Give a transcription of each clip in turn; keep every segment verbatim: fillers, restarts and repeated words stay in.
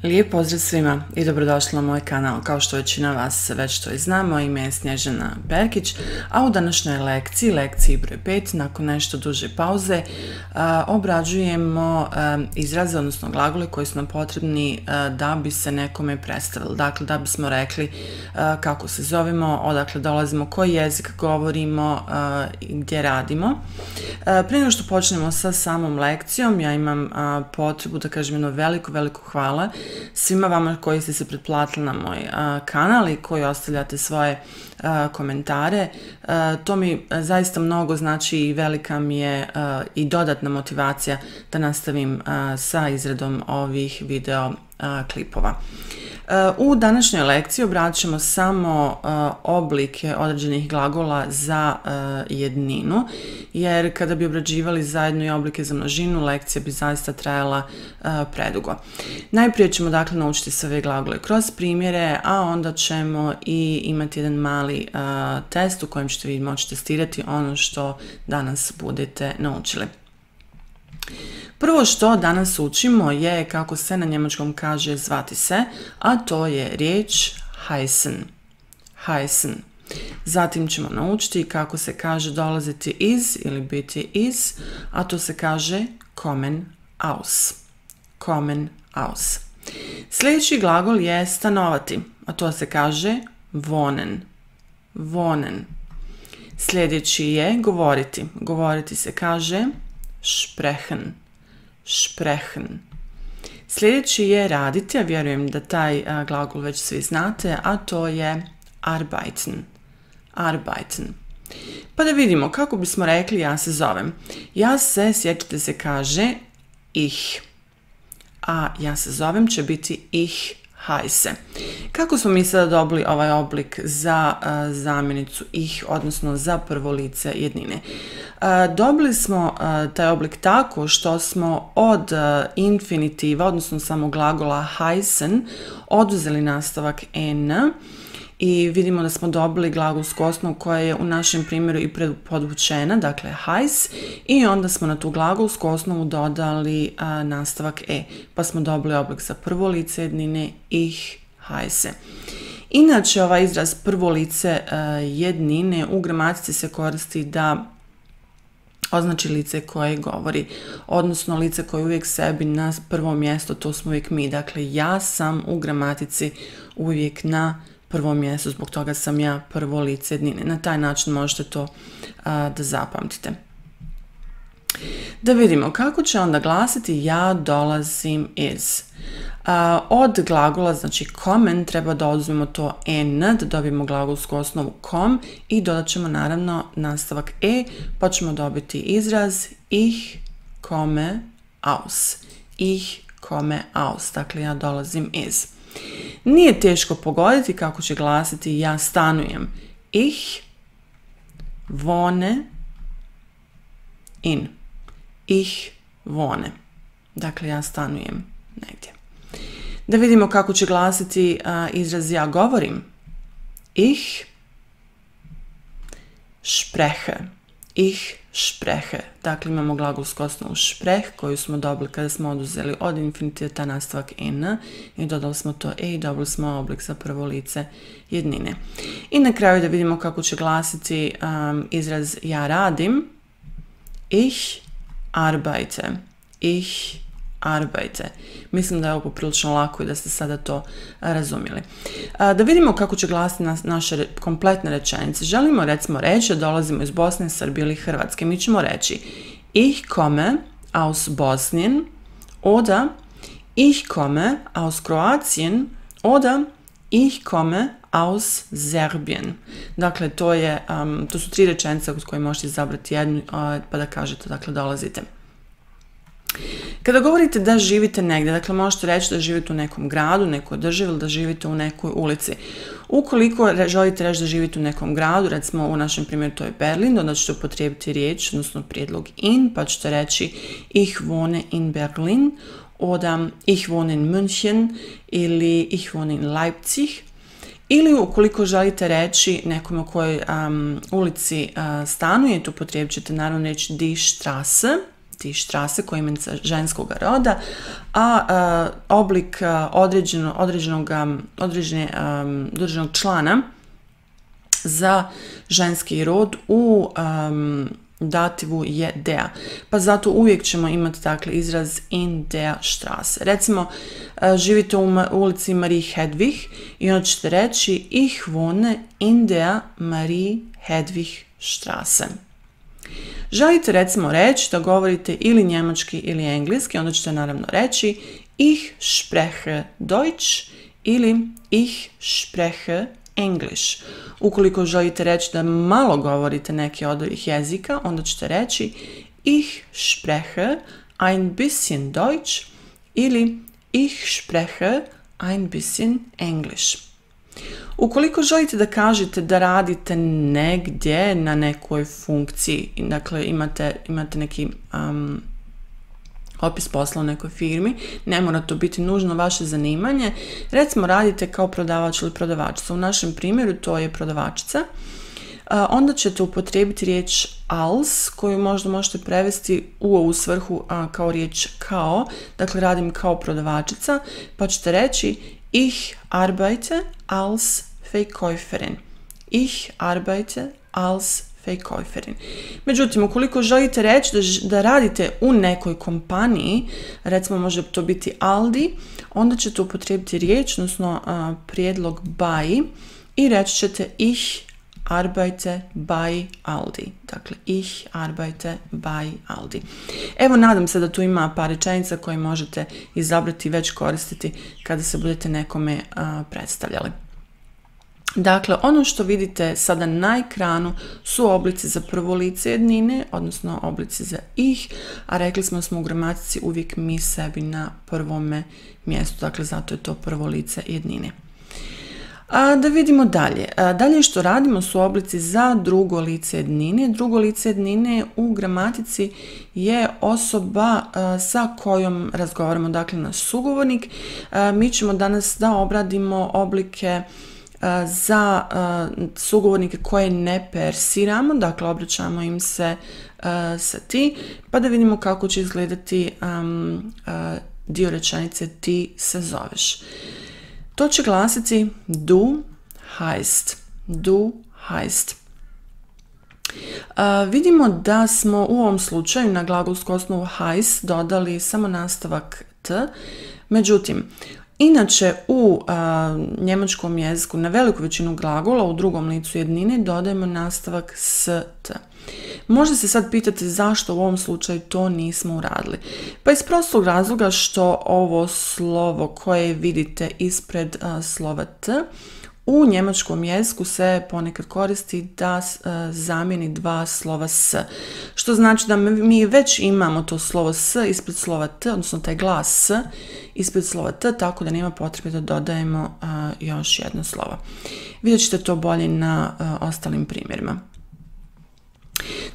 Lijep pozdrav svima i dobrodošli na moj kanal. Kao što većina vas već to i zna, moje ime je Snježana Perkić, a u današnjoj lekciji, lekciji broj pet, nakon nešto duže pauze, a, obrađujemo a, izraze, odnosno glagole koji su nam potrebni a, da bi se nekome predstavili. Dakle, da bismo rekli a, kako se zovemo, odakle dolazimo, koji jezik govorimo a, i gdje radimo. A, prije nego što počnemo sa samom lekcijom, ja imam a, potrebu da kažem jedno veliko, veliko hvala svima vama koji ste se pretplatili na moj a, kanal i koji ostavljate svoje a, komentare. A, to mi zaista mnogo znači i velika mi je a, i dodatna motivacija da nastavim a, sa izradom ovih video a, klipova. U današnjoj lekciji obratit ćemo samo uh, oblike određenih glagola za uh, jedninu, jer kada bi obrađivali zajedno i oblike za množinu, lekcija bi zaista trajala uh, predugo. Najprije ćemo dakle naučiti sve ove glagole kroz primjere, a onda ćemo i imati jedan mali uh, test u kojem ćete vi moći testirati ono što danas budete naučili. Prvo što danas učimo je kako se na njemačkom kaže zvati se, a to je riječ heißen. Heißen. Zatim ćemo naučiti kako se kaže dolaziti iz ili biti iz, a to se kaže kommen aus. Kommen aus. Sljedeći glagol je stanovati, a to se kaže wohnen. Wohnen. Sljedeći je govoriti. Govoriti se kaže sprechen. Sprechen. Sljedeći je raditi, ja vjerujem da taj a, glagol već svi znate, a to je arbeiten. Arbeiten. Pa da vidimo kako bismo rekli ja se zovem. Ja se, sjećate se, kaže ich. A ja se zovem će biti ich heiße. Kako smo mi sada dobili ovaj oblik za uh, zamjenicu ich, odnosno za prvo lice jednine? Uh, dobili smo uh, taj oblik tako što smo od uh, infinitiva, odnosno samog glagola heißen, oduzeli nastavak n i vidimo da smo dobili glagolsku osnovu koja je u našem primjeru i podvučena, dakle heiß, i onda smo na tu glagolsku osnovu dodali uh, nastavak e, pa smo dobili oblik za prvo lice jednine ich heiße. Inače, ovaj izraz prvo lice uh, jednine u gramatici se koristi da označi lice koje govori, odnosno lice koje uvijek sebi na prvo mjesto, to smo uvijek mi. Dakle, ja sam u gramatici uvijek na prvo mjesto, zbog toga sam ja prvo lice jednine. Na taj način možete to a, da zapamtite. Da vidimo kako će onda glasiti ja dolazim iz. A, od glagola, znači kommen, treba da oduzmemo to n, da dobijemo glagolsku osnovu kom i dodat ćemo naravno nastavak e, pa ćemo dobiti izraz ich komme aus. Ich komme aus, dakle ja dolazim iz. Nije teško pogoditi kako će glasiti ja stanujem. Ich wohne in. Ich wohne. Dakle, ja stanujem negdje. Da vidimo kako će glasiti uh, izraz ja govorim. Ich spreche. Ich spreche. Dakle, imamo glagolsku osnovu sprech koju smo dobili kada smo oduzeli od infinitiva ta nastavak n i dodali smo to e i dobili smo oblik za prvo lice jednine. I na kraju da vidimo kako će glasiti um, izraz ja radim. Ich arbeite. Ich arbeite. Mislim da je ovo poprilično lako i da ste sada to razumjeli. Da vidimo kako će glasiti naše kompletne rečenice. Želimo recimo reći da dolazimo iz Bosne, Srbije ili Hrvatske. Mi ćemo reći ich komme aus Bosnien oder ich komme aus Kroatien oder ich komme aus Serbien. Dakle, to, je, um, to su tri rečenice uz koje možete izabrati jednu uh, pa da kažete, dakle, dolazite. Kada govorite da živite negdje, dakle možete reći da živite u nekom gradu, nekoj državi ili da živite u nekoj ulici. Ukoliko želite reći da živite u nekom gradu, recimo u našem primjeru to je Berlin, onda ćete upotrijebiti riječ, odnosno prijedlog in, pa ćete reći ich wohne in Berlin, oder ich wohne in München ili ich wohne in Leipzig. Ili ukoliko želite reći nekome u kojoj um, ulici uh, stanujete, upotrijebit ćete naravno reći die Straße, die Straße koja je imenica ženskog roda, a uh, oblik uh, određeno, određenog, um, određene, um, određenog člana za ženski rod u um, dativu je der. Pa zato uvijek ćemo imati dakle izraz in der Straße. Recimo, uh, živite u, u ulici Marie Hedwig i onda ćete reći ich wohne in der Marie Hedwig Straße. Želite recimo reći da govorite ili njemački ili engleski, onda ćete naravno reći ich spreche Deutsch ili ich spreche English. Ukoliko želite reći da malo govorite neki od ovih jezika, onda ćete reći ich spreche ein bisschen Deutsch ili ich spreche ein bisschen English. Ukoliko želite da kažete da radite negdje na nekoj funkciji, dakle imate, imate neki um, opis posla u nekoj firmi, ne mora to biti nužno vaše zanimanje, recimo radite kao prodavač ili prodavačica. U našem primjeru to je prodavačica. Uh, onda ćete upotrijebiti riječ als, koju možda možete prevesti u ovu svrhu uh, kao riječ kao, dakle radim kao prodavačica, pa ćete reći ich arbeite als Verkäuferin. Ich arbeite als Verkäuferin. Međutim, ukoliko želite reći da, da radite u nekoj kompaniji, recimo može to biti Aldi, onda ćete upotrijebiti riječ, odnosno uh, prijedlog bei i reći ćete ich arbeite bei Aldi. Dakle, ich arbeite bei Aldi. Evo, nadam se da tu ima par rečenica koje možete izabrati i već koristiti kada se budete nekome uh, predstavljali. Dakle, ono što vidite sada na ekranu su oblici za prvo lice jednine, odnosno oblici za ih, a rekli smo smo u gramatici uvijek mi sebi na prvome mjestu, dakle zato je to prvo lice jednine. A da vidimo dalje. A dalje što radimo su oblici za drugo lice jednine. Drugo lice jednine u gramatici je osoba a, sa kojom razgovaramo, dakle naš sugovornik. A, mi ćemo danas da obradimo oblike a, za a, sugovornike koje ne persiramo, dakle obraćamo im se a, sa ti, pa da vidimo kako će izgledati a, a, dio rečenice ti se zoveš. To će glasiti du heißt. Du heißt. Uh, vidimo da smo u ovom slučaju na glagolsku osnovu heißt dodali samo nastavak t. Međutim, inače u uh, njemačkom jeziku na veliku većinu glagola u drugom licu jednine dodajemo nastavak s t. Možda se sad pitate zašto u ovom slučaju to nismo uradili. Pa iz prostog razloga što ovo slovo koje vidite ispred uh, slova t u njemačkom jeziku se ponekad koristi da uh, zamijeni dva slova s. Što znači da mi već imamo to slovo s ispred slova t, odnosno taj glas s ispred slova t, tako da nema potrebe da dodajemo uh, još jedno slovo. Vidjet ćete to bolje na uh, ostalim primjerima.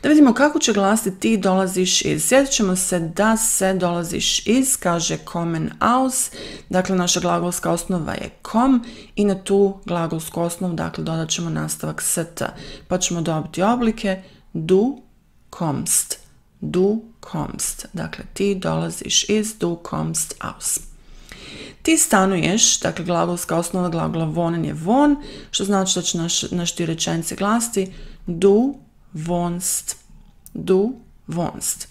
Da vidimo kako će glasiti ti dolaziš iz. Sjetit ćemo se da se dolaziš iz kaže kommen aus, dakle naša glagolska osnova je kom i na tu glagolsku osnovu dakle dodat ćemo nastavak s t, pa ćemo dobiti oblike du kommst, du kommst, dakle ti dolaziš iz, du kommst aus. Ti stanuješ, dakle glagolska osnova glagola wohnen je von, što znači da će naš, naš dio rečenice glasiti du wohnst, du wohnst.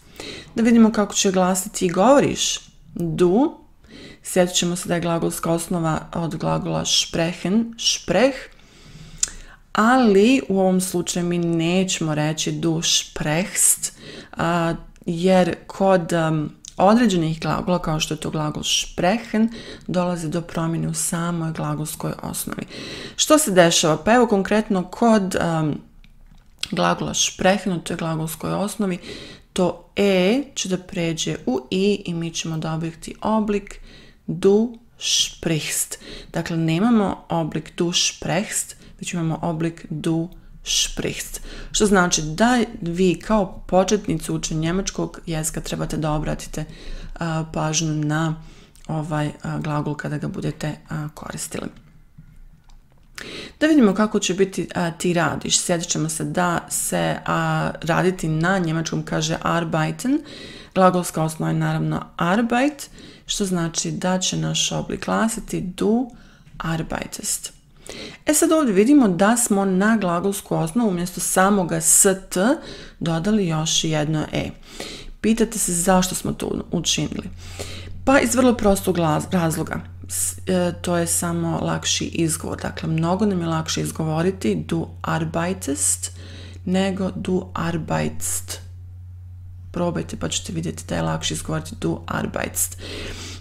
Da vidimo kako će glasiti ti govoriš. Du, sjetit ćemo se da je glagolska osnova od glagola sprechen, sprech, ali u ovom slučaju mi nećemo reći du sprechst, a, jer kod um, određenih glagola, kao što je to glagol sprechen, dolazi do promjene u samoj glagolskoj osnovi. Što se dešava? Pa evo konkretno kod um, glagola sprechen, u toj glagolskoj osnovi, to e će da pređe u i i mi ćemo dobiti oblik du sprichst. Dakle, nemamo oblik du sprechst, već imamo oblik du sprichst. Što znači da vi kao početnici učenja njemačkog jezika trebate da obratite uh, pažnju na ovaj uh, glagol kada ga budete uh, koristili. Da vidimo kako će biti a, ti radiš. Sjetit ćemo se da se a, raditi na njemačkom kaže arbeiten. Glagolska osnova je naravno arbeit, što znači da će naš oblik glasiti du arbeitest. E sad ovdje vidimo da smo na glagolsku osnovu umjesto samoga st dodali još jedno e. Pitate se zašto smo to učinili. Pa iz vrlo prostog razloga. E, to je samo lakši izgovor. Dakle, mnogo nam je lakše izgovoriti du arbeitest nego du arbeitst. Probajte pa ćete vidjeti da je lakše izgovoriti du arbeitst.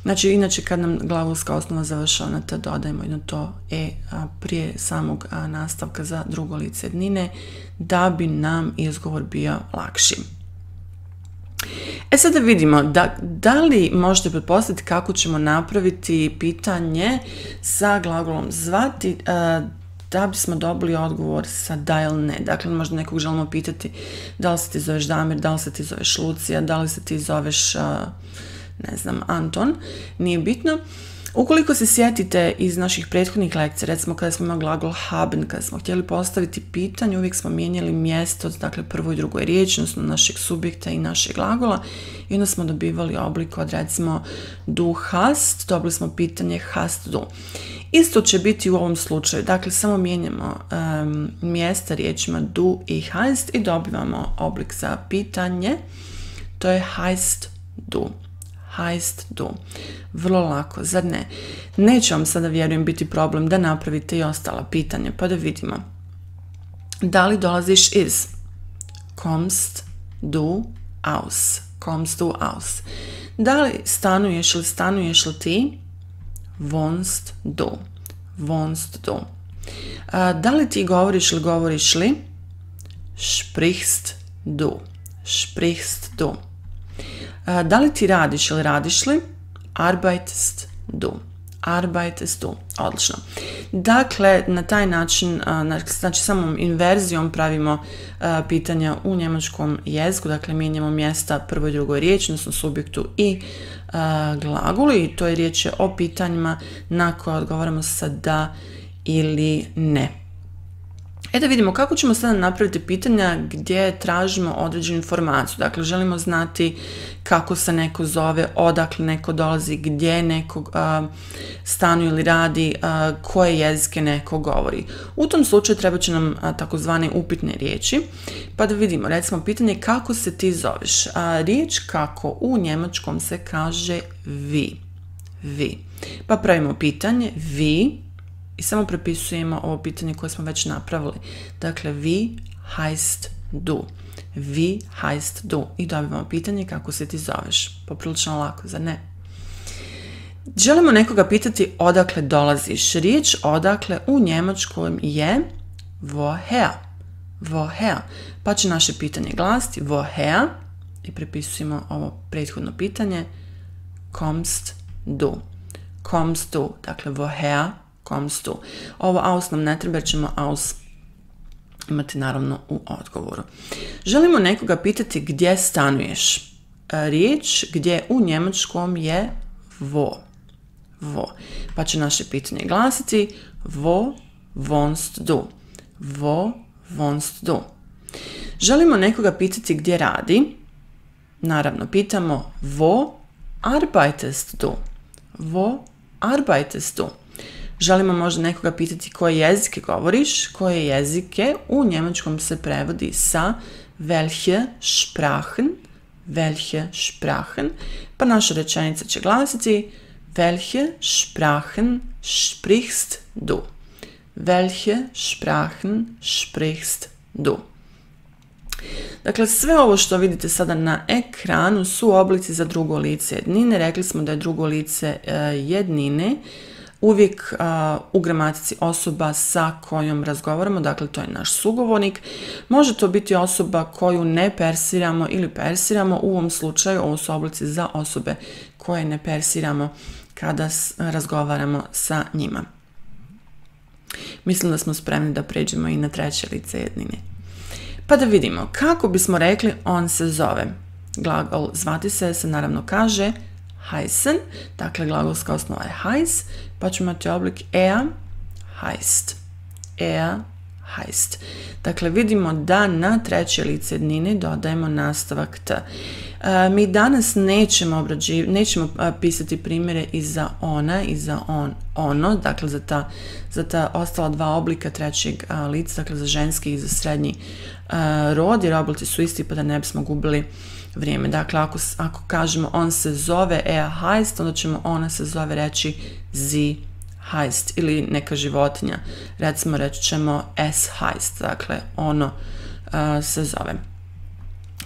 Znači, inače kad nam glagolska osnova završava na t, dodajemo jedno to e a, prije samog a, nastavka za drugo lice jednine da bi nam izgovor bio lakši. E sada vidimo da, da li možete pretpostaviti kako ćemo napraviti pitanje sa glagolom zvati a, da bismo dobili odgovor sa da ili ne. Dakle, možda nekog želimo pitati da li se ti zoveš Damir, da li se ti zoveš Lucija, da li se ti zoveš, ne znam, Anton, nije bitno. Ukoliko se sjetite iz naših prethodnih lekcija, recimo kada smo imali glagol haben, kada smo htjeli postaviti pitanje, uvijek smo mijenjali mjesto, dakle prvoj i drugoj riječi, odnosno našeg subjekta i našeg glagola, i onda smo dobivali oblik od recimo du hast, dobili smo pitanje hast du. Isto će biti u ovom slučaju, dakle samo mijenjamo um, mjesta riječima du i heißt i dobivamo oblik za pitanje, to je heißt du. Heißt du. Vrlo lako, zar ne? Neće vam sada, vjerujem, biti problem da napravite i ostala pitanja, pa da vidimo. Da li dolaziš iz? Kommst du aus? Kommst du aus? Da li stanuješ ili stanuješ li ti? Wohnst du. Wohnst du. A, da li ti govoriš ili govoriš li? Sprichst du. Sprichst du. A, da li ti radiš ili radiš li? Arbeitest du. Arbeitest du. Odlično. Dakle, na taj način, znači samom inverzijom pravimo pitanja u njemačkom jeziku, dakle mijenjamo mjesta prvoj i drugoj riječi, odnosno subjektu i glagolu, i to je riječ o pitanjima na koje odgovaramo sa da ili ne. E da vidimo kako ćemo sada napraviti pitanja gdje tražimo određenu informaciju. Dakle, želimo znati kako se neko zove, odakle neko dolazi, gdje neko uh, stanuje ili radi, uh, koje jezike neko govori. U tom slučaju treba će nam uh, takozvane upitne riječi. Pa da vidimo, recimo pitanje kako se ti zoveš. Uh, riječ kako u njemačkom se kaže vi. Vi. Pa pravimo pitanje vi. I samo prepisujemo ovo pitanje koje smo već napravili. Dakle, vi heißt du. Vi heißt du. I dobivamo pitanje kako se ti zoveš. Poprilično lako, zar ne? Želimo nekoga pitati odakle dolaziš. Riječ odakle u njemačkom je woher. Woher. Pa će naše pitanje glasiti woher. I prepisujemo ovo prethodno pitanje. Kommst du. Kommst du. Dakle, woher kommst du. Ovo aus nam ne treba jer ćemo aus imati naravno u odgovoru. Želimo nekoga pitati gdje stanuješ. Riječ gdje u njemačkom je wo. Wo. Pa će naše pitanje glasiti wo wohnst du. Wo wohnst du. Želimo nekoga pitati gdje radi. Naravno pitamo wo arbeitest du. Wo arbeitest du. Želimo možda nekoga pitati koje jezike govoriš, koje jezike u njemačkom se prevodi sa welche Sprachen, welche Sprachen, pa naša rečenica će glasiti welche Sprachen sprichst du, welche Sprachen sprichst du. Dakle, sve ovo što vidite sada na ekranu su oblici za drugo lice jednine. Rekli smo da je drugo lice uh, jednine uvijek uh, u gramatici osoba sa kojom razgovaramo, dakle to je naš sugovornik. Može to biti osoba koju ne persiramo ili persiramo, u ovom slučaju ovo su oblici za osobe koje ne persiramo kada razgovaramo sa njima. Mislim da smo spremni da pređemo i na treće lice jednine. Pa da vidimo kako bismo rekli on se zove. Glagol zvati se se naravno kaže heißen, dakle glagolska osnova je heiß, pa ćemo imati oblik er heißt. er heißt. Dakle, vidimo da na treće lice jednine dodajemo nastavak t. E, mi danas nećemo, obrađiv, nećemo pisati primjere i za ona i za on, ono, dakle za ta, za ta ostala dva oblika trećeg a, lica, dakle za ženski i za srednji a, rod, jer oblici su isti pa da ne bismo gubili vrijeme. Dakle, ako, ako kažemo on se zove er heißt, onda ćemo ona se zove reći sie heißt, ili neka životinja, recimo reći ćemo es heißt, dakle ono uh, se zove.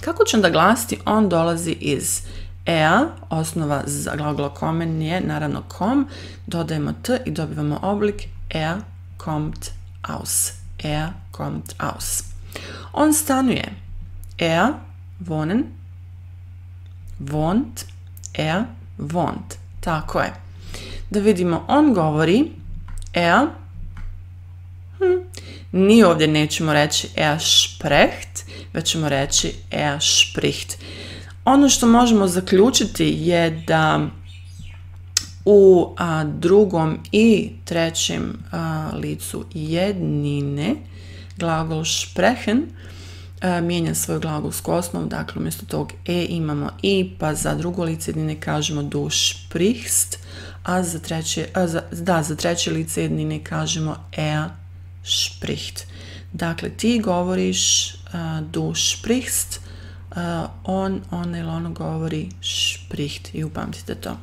Kako će onda glasiti? On dolazi iz er, osnova za glagol kommen je naravno kom, dodajemo t i dobivamo oblik er kommt aus. Er kommt aus. On stanuje. Er wohnen, wohnt, er wohnt. Tako je. Da vidimo, on govori, er, hm, ni ovdje nećemo reći er spricht, već ćemo reći er spricht. Ono što možemo zaključiti je da u a, drugom i trećem a, licu jednine glagol sprechen a, mijenja svoju glagolsku osnovu, dakle umjesto tog e imamo i, pa za drugo lice jednine kažemo du sprichst, a za treće, a za, da, za treće lice jednine kažemo er spricht. Dakle, ti govoriš, uh, du sprichst, uh, on, ona ili ono govori spricht i upamtite to.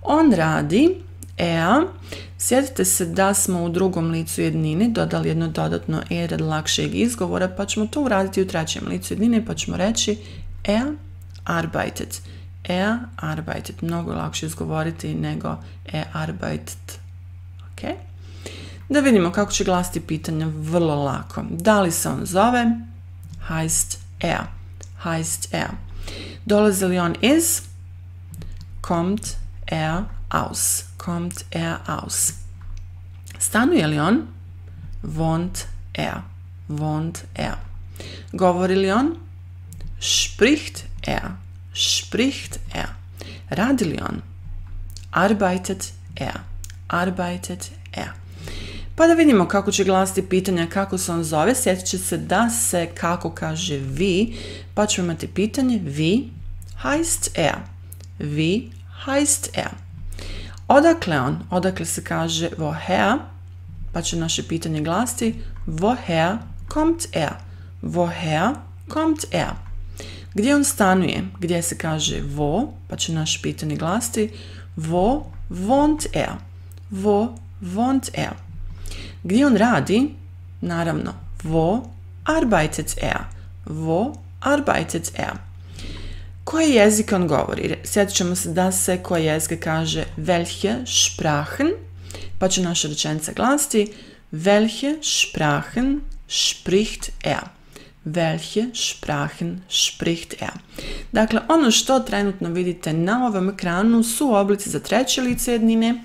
On radi, er, sjetite se da smo u drugom licu jednine dodali jedno dodatno e radi lakšeg izgovora, pa ćemo to uraditi u trećem licu jednine, pa ćemo reći er arbeitet. Er arbeitet. Mnogo lakše izgovoriti nego er arbeitet. Ok? Da vidimo kako će glasiti pitanja vrlo lako. Da li se on zove? Heißt er. Heißt er. Dolazi li on iz? Kommt er aus. Kommt er aus. Stanuje li on? Wohnt er. Wohnt er. Govori li on? Spricht er. Spricht er. Radi li on? Arbeitet er. Arbeitet er. Pa da vidimo kako će glasiti pitanja kako se on zove. Sjetit će se da se kako kaže vi, pa ćemo imati pitanje vi heißt er. Vi heißt er. Odakle on? Odakle se kaže woher, pa će naše pitanje glasiti woher kommt er. Woher kommt er. Gdje on stanuje? Gdje se kaže wo, pa će naše pitanje glasiti wo wohnt er. Wo wohnt er. Gdje on radi? Naravno, wo arbeitet er. Wo arbeitet er. Koje jezike on govori? Sjetit ćemo se da se koje jezike kaže welche Sprachen, pa će naša rečenica glasiti welche Sprachen spricht er. Welche Sprachen spricht er. Dakle, ono što trenutno vidite na ovom ekranu su oblici za treće lice jednine.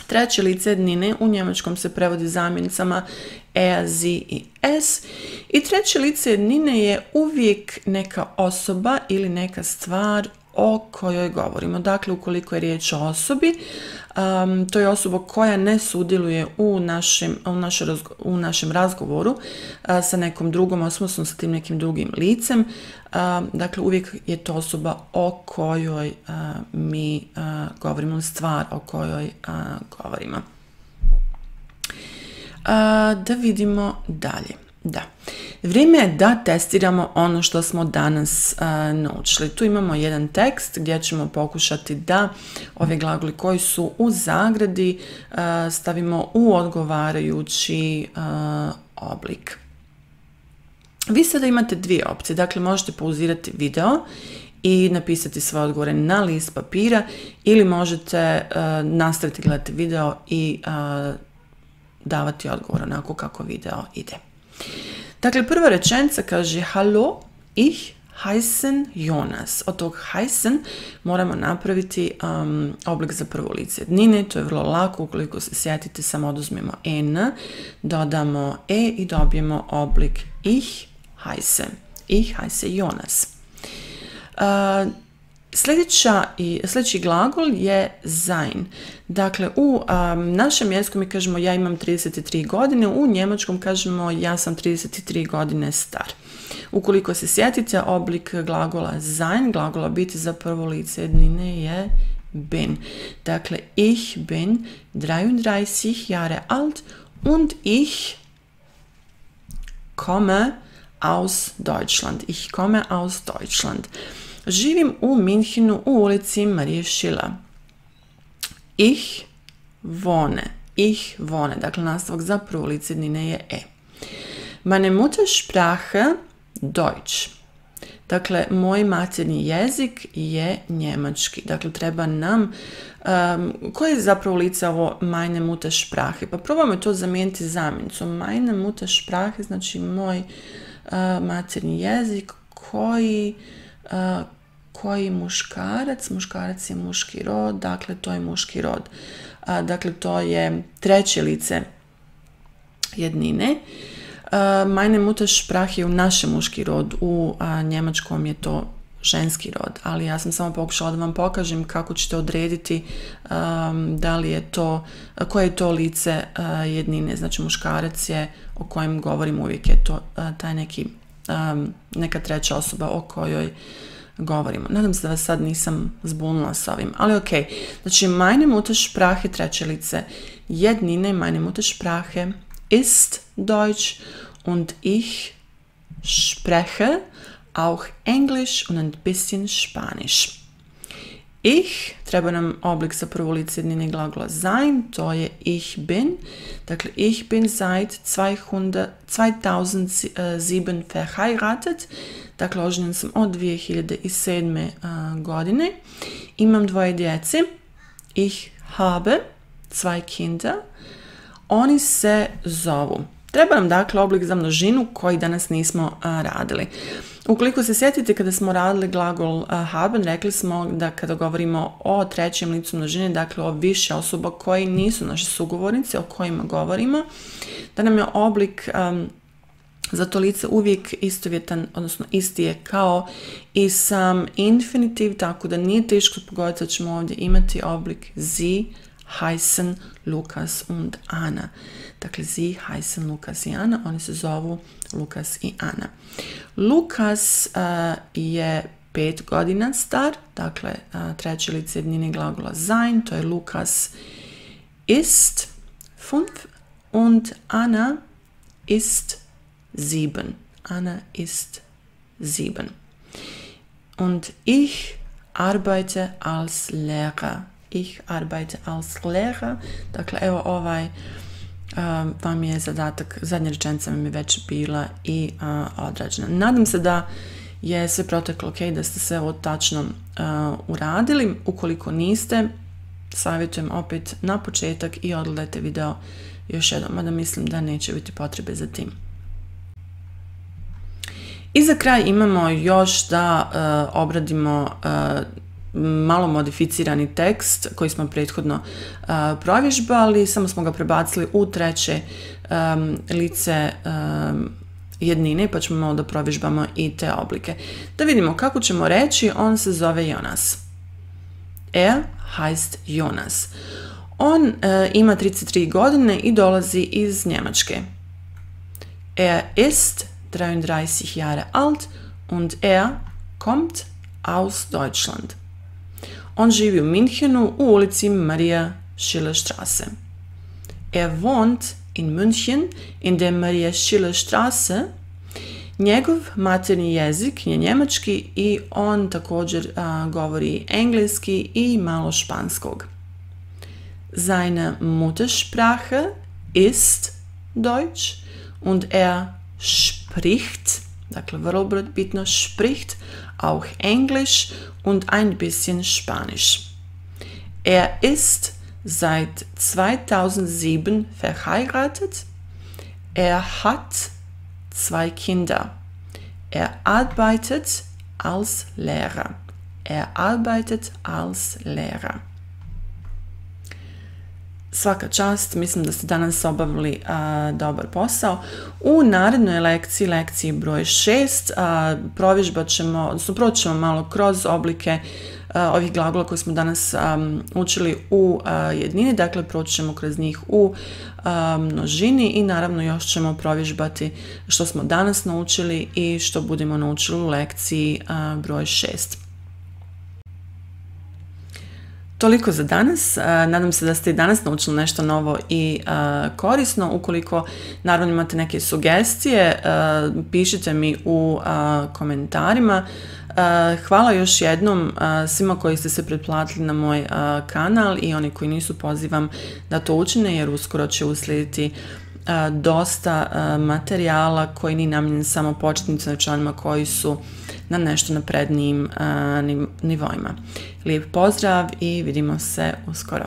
Treće lice jednine u njemačkom se prevodi zamjenicama er, sie i es. I treće lice jednine je uvijek neka osoba ili neka stvar o kojoj govorimo. Dakle, ukoliko je riječ o osobi, um, to je osoba koja ne sudjeluje u našem, u našem, u našem razgovoru uh, sa nekom drugom osobom, sa tim nekim drugim licem. Uh, dakle, uvijek je to osoba o kojoj uh, mi uh, govorimo, stvar o kojoj uh, govorimo. Uh, da vidimo dalje. Da. Vrijeme je da testiramo ono što smo danas uh, naučili. Tu imamo jedan tekst gdje ćemo pokušati da ove glagoli koji su u zagradi uh, stavimo u odgovarajući uh, oblik. Vi sada imate dvije opcije. Dakle, možete pauzirati video i napisati svoje odgovore na list papira ili možete uh, nastaviti gledati video i uh, davati odgovor onako kako video ide. Dakle, prva rečenica kaže hallo, ich heißen Jonas. Od tog heißen moramo napraviti um, oblik za prvo lice jednine. To je vrlo lako, ukoliko se sjetite, samo oduzmemo en, dodamo e i dobijemo oblik ich heiße. Ich heiße Jonas. Uh, Sljedeća i, sljedeći glagol je sein. Dakle, u um, našem jeziku mi kažemo ja imam trideset tri godine, u njemačkom kažemo ja sam trideset tri godine star. Ukoliko se sjetite, oblik glagola sein, glagola biti za prvo lice jednine je bin. Dakle, ich bin dreiunddreißig Jahre alt und ich komme aus Deutschland. Ich komme aus Deutschland. Živim u Minhenu u ulici Marije Schiller. Ich wohne. Ich wohne. Dakle, nastavak za prvo lice jednine je e. Meine Muttersprache Deutsch. Dakle, moj materni jezik je njemački. Dakle, treba nam... Um, koje je zapravo lice ovo meine Muttersprache? Pa probamo to zamijeniti zamjenicom. Meine Muttersprache znači moj uh, materni jezik koji... Uh, koji muškarac, muškarac je muški rod, dakle to je muški rod. Uh, dakle to je treće lice jednine. Uh, meine Muttersprache je u našem muški rod, u uh, njemačkom je to ženski rod, ali ja sam samo pokušala da vam pokažem kako ćete odrediti um, da li je to, koje je to lice uh, jednine, znači muškarac je o kojem govorim uvijek je to uh, taj neki um, neka treća osoba o kojoj govorimo. Nadam se da vas sad nisam zbunila s ovim, ali ok. Znači, meine Muttersprache, treće lice jednine, meine Muttersprache ist Deutsch und ich spreche auch Englisch und ein bisschen Spanisch. Ich, treba nam oblik za prvo lice jednine glagola sein, to je ich bin. Dakle, ich bin seit zweitausendsieben verheiratet. Dakle, oženjen sam od dvije hiljade sedme. Uh, godine. Imam dvoje djece. Ich habe zwei Kinder. Oni se zovu. Treba nam dakle oblik za množinu koji danas nismo uh, radili. Ukoliko se sjetite kada smo radili glagol uh, haben, rekli smo da kada govorimo o trećem licu množine, dakle o više osoba koji nisu naši sugovornici, o kojima govorimo, da nam je oblik um, za to lice uvijek istovjetan, odnosno isti je kao i sam infinitiv, tako da nije teško pogoditi da ćemo ovdje imati oblik sie heißen Lukas und Anna. Dakle, sie heißen Lukas i Anna, oni se zovu Lukas i Anna. Lukas uh, je pet godina star, dakle, uh, treće lice jednine glagola sein, to je Lukas ist fünf und Anna ist sieben. Anna ist sieben. Und ich arbeite als Lehrer. Ich arbeite als Lehrer. Dakle, evo ovaj um, vam je zadatak, zadnja rečenica mi je već bila i uh, odrađena. Nadam se da je sve proteklo ok, da ste sve ovo tačno uh, uradili. Ukoliko niste, savjetujem opet na početak i odgledajte video još jednom, mada mislim da neće biti potrebe za tim. I za kraj imamo još da uh, obradimo uh, malo modificirani tekst koji smo prethodno uh, provježbali, samo smo ga prebacili u treće um, lice um, jednine, pa ćemo malo da provježbamo i te oblike. Da vidimo kako ćemo reći, on se zove Jonas. Er heißt Jonas. On uh, ima trideset tri godine i dolazi iz Njemačke. Er ist dreiunddreißig Jahre alt und er kommt aus Deutschland. On živi u Minhenu u ulici Maria Schiller Straße. Er wohnt in München in der Maria Schiller Straße. Njegov materni jezik je njemački i on također a, govori engleski i malo španskog. Seine Muttersprache ist Deutsch und er spricht, dakle vrlo bitno, spricht auch Englisch und ein bisschen Spanisch. Er ist seit zweitausendsieben verheiratet. Er hat zwei Kinder. Er arbeitet als Lehrer. Er arbeitet als Lehrer. svaka čast, mislim da ste danas obavili a, dobar posao. U narednoj lekciji, lekciji broj šest, a, provježbat ćemo, odnosno proći ćemo malo kroz oblike a, ovih glagola koje smo danas a, učili u a, jednini, dakle proći ćemo kroz njih u a, množini i naravno još ćemo provježbati što smo danas naučili i što budemo naučili u lekciji a, broj šest. Toliko za danas. Nadam se da ste i danas naučili nešto novo i korisno. Ukoliko naravno imate neke sugestije, pišite mi u komentarima. Hvala još jednom svima koji ste se pretplatili na moj kanal i oni koji nisu, pozivam da to učine jer uskoro će uslijediti dosta materijala koji nije namijenjen samo početnicima i članima koji su na nešto naprednijim nivoima. Lijep pozdrav i vidimo se uskoro.